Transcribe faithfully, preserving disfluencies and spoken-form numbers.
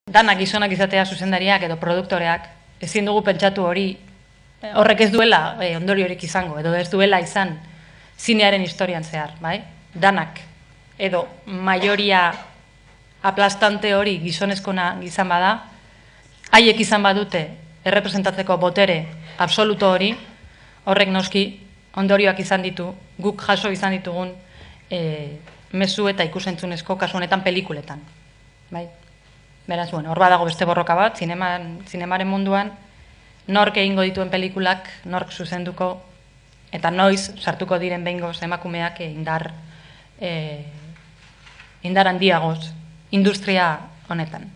danak gizonak izatea zuzendariak edo produktoreak, ezin dugu pentsatu hori, horrek ez duela e, ondoriorik izango, edo ez duela izan zinearen historian zehar, bai? Danak, edo maioria aplastante hori gizonezkona izan bada, haiek izan badute errepresentatzeko botere absoluto hori, horrek noski ondorioak izan ditu, guk jaso izan ditugun e, mezu eta ikusentzunezko kasu honetan pelikuletan. Bai? Beraz, bueno, hor badago beste borroka bat, zineman, zinemaren munduan, nork egingo dituen pelikulak, nork zuzenduko, eta noiz sartuko diren behingoz emakumeak indar, e, indar handiagoz industria honetan.